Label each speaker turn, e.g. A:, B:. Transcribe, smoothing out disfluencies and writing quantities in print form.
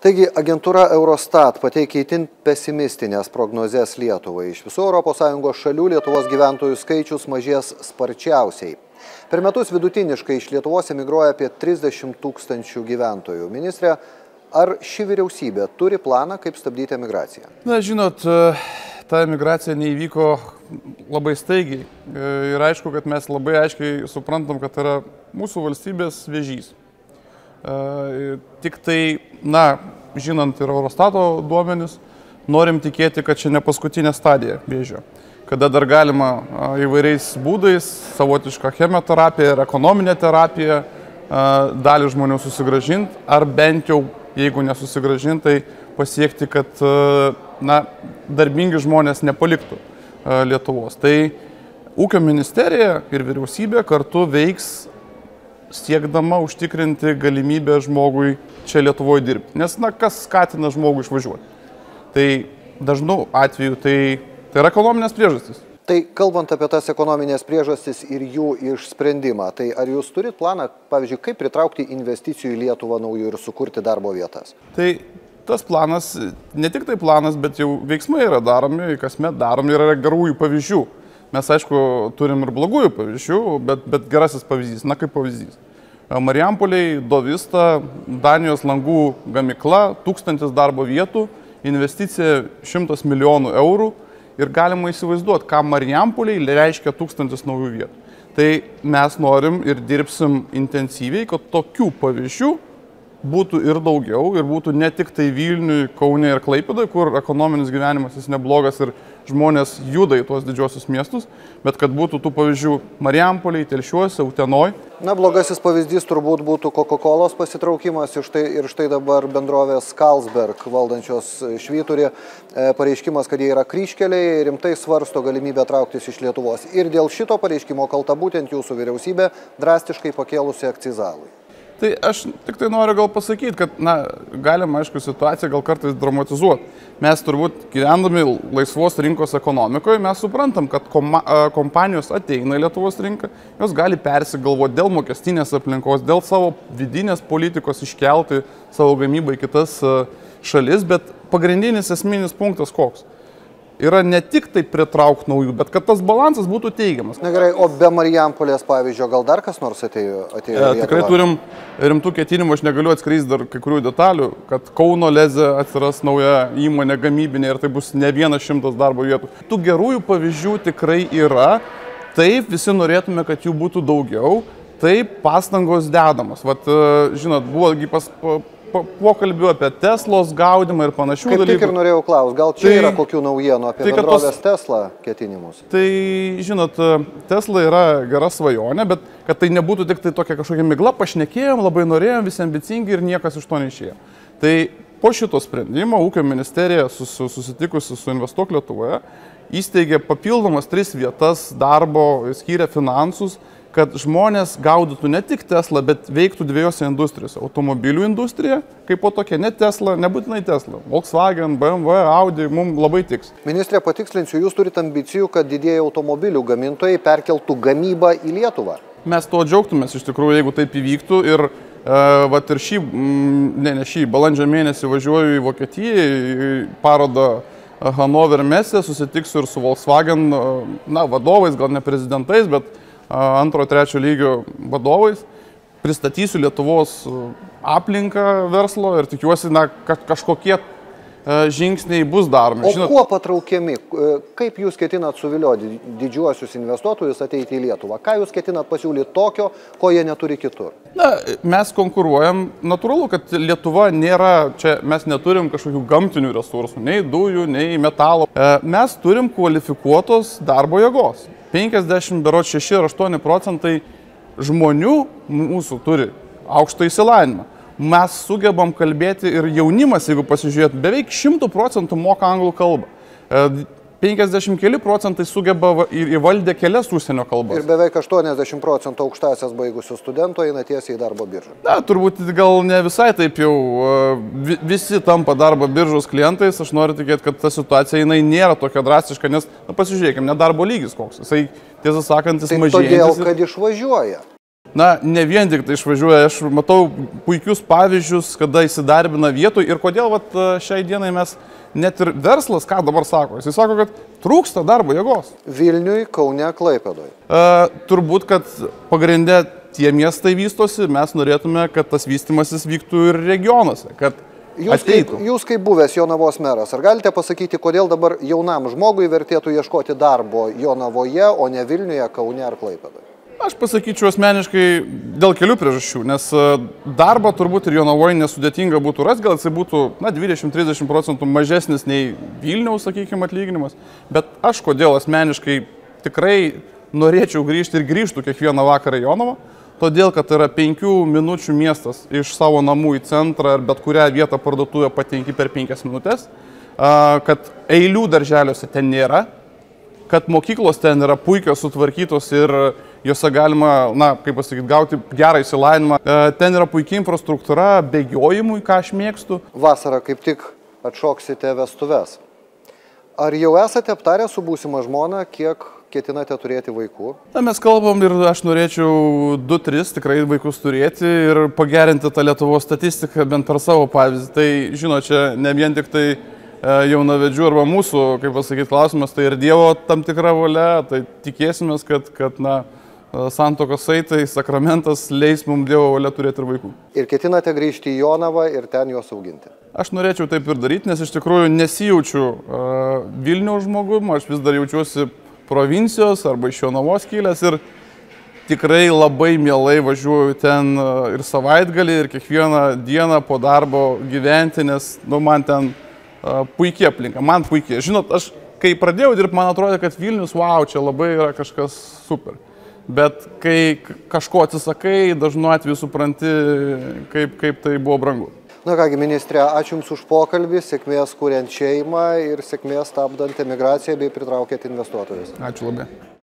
A: Taigi, agentūra Eurostat pateikė itin pesimistinės prognozes Lietuvai. Iš visų ES šalių Lietuvos gyventojų skaičius mažės sparčiausiai. Per metus vidutiniškai iš Lietuvos emigruoja apie 30 000 gyventojų. Ministrė, ar ši vyriausybė turi planą, kaip stabdyti emigraciją?
B: Na, žinot, ta emigracija neįvyko labai staigiai. Ir aišku, kad mes labai aiškiai suprantam, kad tai yra mūsų valstybės vėžys. Tik tai, na, žinant ir Eurostato duomenis, norim tikėti, kad čia ne paskutinė stadija vėžio. Kada dar galima įvairiais būdais, savotišką chemoterapiją ir ekonominę terapiją, dalį žmonių susigrąžinti, ar bent jau, jeigu nesusigrąžinti, tai pasiekti, kad, na, darbingi žmonės nepaliktų Lietuvos. Tai Ūkio ministerija ir vyriausybė kartu veiks siekdama užtikrinti galimybę žmogui čia Lietuvoje dirbti. Nes, na, kas skatina žmogų išvažiuoti? Tai dažnu atveju tai yra ekonominės priežastys.
A: Tai kalbant apie tas ekonominės priežastis ir jų išsprendimą, tai ar jūs turit planą, pavyzdžiui, kaip pritraukti investicijų į Lietuvą naujų ir sukurti darbo vietas?
B: Tai tas planas, ne tik tai planas, bet jau veiksmai yra daromi, kasmet daromi, yra gerųjų pavyzdžių. Mes, aišku, turim ir blogųjų pavyzdžių, bet gerasis pavyzdys, na kaip pavyzdys. Marijampolėj, Dovista, Danijos langų gamykla, 1000 darbo vietų, investicija 100 milijonų eurų ir galima įsivaizduoti, ką Marijampolėj reiškia 1000 naujų vietų. Tai mes norim ir dirbsim intensyviai, kad tokių pavyzdžių būtų ir daugiau ir būtų ne tik tai Vilniui, Kaune ir Klaipėdoje, kur ekonominis gyvenimas jis neblogas ir žmonės juda į tuos didžiosius miestus, bet kad būtų tų pavyzdžių Marijampolėj, Telšiuose, Utenoj.
A: Na, blogasis pavyzdys turbūt būtų Coca-Colos pasitraukimas ir štai dabar bendrovės Carlsberg valdančios Švyturį pareiškimas, kad jie yra kryžkeliai, rimtai svarsto galimybę trauktis iš Lietuvos. Ir dėl šito pareiškimo kalta būtent jūsų vyriausybė drastiškai pakėlusi akcizalui.
B: Tai aš tik tai noriu gal pasakyti, kad, na, galima, aišku, situaciją gal kartais dramatizuoti. Mes turbūt gyvendami laisvos rinkos ekonomikoje, mes suprantam, kad kompanijos ateina į Lietuvos rinką, jos gali persigalvoti dėl mokestinės aplinkos, dėl savo vidinės politikos iškelti savo gamybą į kitas šalis, bet pagrindinis esminis punktas koks? Yra ne tik tai pritraukti naujų, bet kad tas balansas būtų teigiamas.
A: Na gerai, o be Marijampolės pavyzdžio gal dar kas nors atėjo
B: tikrai turim rimtų ketinimų, aš negaliu atskleisti dar kai kurių detalių, kad Kauno Leze atsiras nauja įmonė gamybinė ir tai bus ne 100 darbo vietų. Tų gerųjų pavyzdžių tikrai yra, taip visi norėtume, kad jų būtų daugiau, taip pastangos dedamos. Vat, žinot, buvo pokalbių apie Teslos gaudimą ir panašių dalykų.
A: Kaip tik ir norėjau klausti, gal čia yra kokių naujienų apie bendrovės Tesla ketinimus?
B: Tai, žinot, Tesla yra gera svajonė, bet kad tai nebūtų tik tai tokia kažkokia migla, pašnekėjom, labai norėjom, visi ambicingi ir niekas iš to neišėjo. Tai po šito sprendimo Ūkio ministerija susitikusi su Investuok Lietuvoje įsteigė papildomas 3 vietas darbo, skyrė finansus, kad žmonės gaudytų ne tik Tesla, bet veiktų 2 industrijose. Automobilių industrija, kaip po tokia, ne Tesla, nebūtinai Tesla. Volkswagen, BMW, Audi, mums labai tiks.
A: Ministrė, patikslinsiu, jūs turite ambicijų, kad didieji automobilių gamintojai perkeltų gamybą į Lietuvą.
B: Mes to džiaugtumės iš tikrųjų, jeigu taip įvyktų. Ir vat ir balandžio mėnesį važiuoju į Vokietiją, į parodą Hanover Messe, susitiksiu ir su Volkswagen vadovais, gal ne prezidentais, bet 2-3 lygio vadovais, pristatysiu Lietuvos aplinką verslo ir tikiuosi, kad kažkokie žingsniai bus daromi.
A: O kuo patraukiami? Kaip jūs ketinat suvilioti didžiuosius investuotojus ateiti į Lietuvą? Ką jūs ketinat pasiūlyti tokio, ko jie neturi kitur?
B: Na, mes konkuruojam, natūralu, kad Lietuva nėra, čia mes neturim kažkokių gamtinių resursų, nei dujų, nei metalo. Mes turim kvalifikuotos darbo jėgos. 56 ar 8% žmonių mūsų turi aukštą išsilavinimą. Mes sugebam kalbėti ir jaunimas, jeigu pasižiūrėt, beveik 100% moka anglų kalbą. 50 keli procentai sugeba ir įvaldė kelias užsienio kalbas.
A: Ir beveik 80% aukštąsias baigusių studentų eina tiesiai į darbo biržą.
B: Na, turbūt gal ne visai taip jau visi tampa darbo biržos klientais. Aš noriu tikėti, kad ta situacija jinai nėra tokia drastiška, nes, pasižiūrėkime, nedarbo lygis koks. Jisai, tiesą sakant, jis mažėjantis.
A: Todėl, kad išvažiuoja.
B: Na, ne vien tik tai išvažiuoja, aš matau puikius pavyzdžius, kada įsidarbina vietoj ir kodėl šiai dienai mes, net ir verslas, ką dabar sako, jis sako, kad trūksta darbo jėgos.
A: Vilniui, Kaune, Klaipėdoj.
B: Turbūt, kad pagrindė tie miestai vystosi, mes norėtume, kad tas vystimasis vyktų ir regionuose, kad
A: Jūs kaip buvęs Jonavos meras, ar galite pasakyti, kodėl dabar jaunam žmogui vertėtų ieškoti darbo Jonavoje, o ne Vilniuje, Kaune ar Klaipėdoje?
B: Aš pasakyčiau asmeniškai dėl kelių priežasčių, nes darbą turbūt ir Jonavoje nesudėtinga būtų rasti, gal jisai būtų 20-30% mažesnis nei Vilniaus, sakykime, atlyginimas, bet aš kodėl asmeniškai tikrai norėčiau grįžti ir grįžtų kiekvieną vakarą į Jonavą, todėl, kad yra 5 minučių miestas iš savo namų į centrą ar bet kurią vietą parduotuvę patenki per 5 minutės, kad eilių darželiuose ten nėra, kad mokyklos ten yra puikios, sutvarkytos ir juose galima, kaip pasakyti, gauti gerą išsilavinimą. Ten yra puikia infrastruktūra, bėgiojimui, ką aš mėgstu.
A: Vasarą kaip tik atšoksite vestuves. Ar jau esate aptarę su būsima žmona, kiek ketinate turėti vaikų?
B: Mes kalbam ir aš norėčiau 2-3 tikrai vaikus turėti ir pagerinti tą Lietuvos statistiką bent per savo pavyzdį. Tai, žinot, čia ne vien tik tai jaunavedžių arba mūsų, kaip pasakyti, klausimas, tai ir Dievo tam tikra valia, tai tikėsimės, kad santuokos saitai, sakramentas leis mums Dievo valia turėti ir vaikų.
A: Ir ketinate grįžti į Jonavą ir ten juos auginti?
B: Aš norėčiau taip ir daryti, nes iš tikrųjų nesijaučiu Vilniaus žmogum, aš vis dar jaučiuosi provincijos arba iš Jonavos kilęs ir tikrai labai mielai važiuoju ten ir savaitgalį, ir kiekvieną dieną po darbo gyventi, nes man ten puikiai aplinka, man puikiai. Žinot, aš kai pradėjau dirbti, man atrodė, kad Vilnius, wow, čia labai yra kažkas super. Bet kai kažko atsisakai, dažnu atveju supranti, kaip tai buvo brangu.
A: Na kągi, ministrė, ačiū Jums už pokalbį, sėkmės kuriant šeimą ir sėkmės stabdant emigraciją bei pritraukiant investuotojus.
B: Ačiū labai.